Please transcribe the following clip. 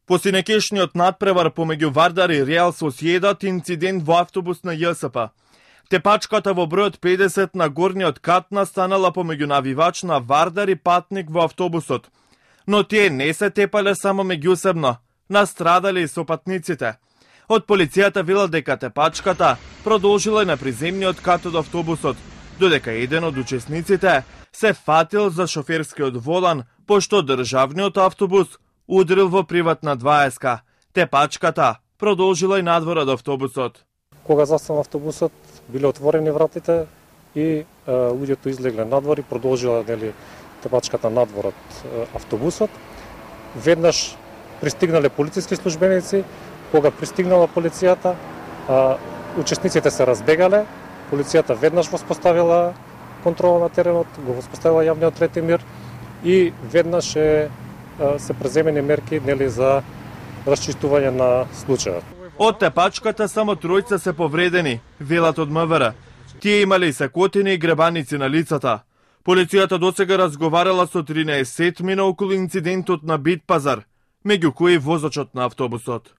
По синекешниот надпревар помеѓу Вардар и Реал Сосиедад инцидент во автобус на ЈСП. Тепачката во бројот 50 на горниот кат настанала помеѓу навивач на Вардар и патник во автобусот. Но тие не се тепале само меѓусебно, настрадале и сопатниците. Од полицијата велат дека тепачката продолжила и на приземниот кат од автобусот, додека еден од учесниците се фатил за шоферскиот волан, пошто државниот автобус удрил во приватна 20-ка. Тепачката продолжила и надвор од автобусот. Кога застана автобусот, биле отворени вратите и луѓето излегле надвор и продолжила тепачката надвор од автобусот. Веднаш пристигнале полициски службеници. Кога пристигнала полицијата, учесниците се разбегале. Полицијата веднаш воспоставила контрола на теренот, го воспоставила јавниот ред и мир и веднаш се преземени мерки за расчистување на случајот. Од тепачката само тројца се повредени, велат од МВР. Тие имале и секотини и гребаници на лицата. Полицијата досега разговарала со 13 околу инцидентот на Битпазар, меѓу кои возачот на автобусот.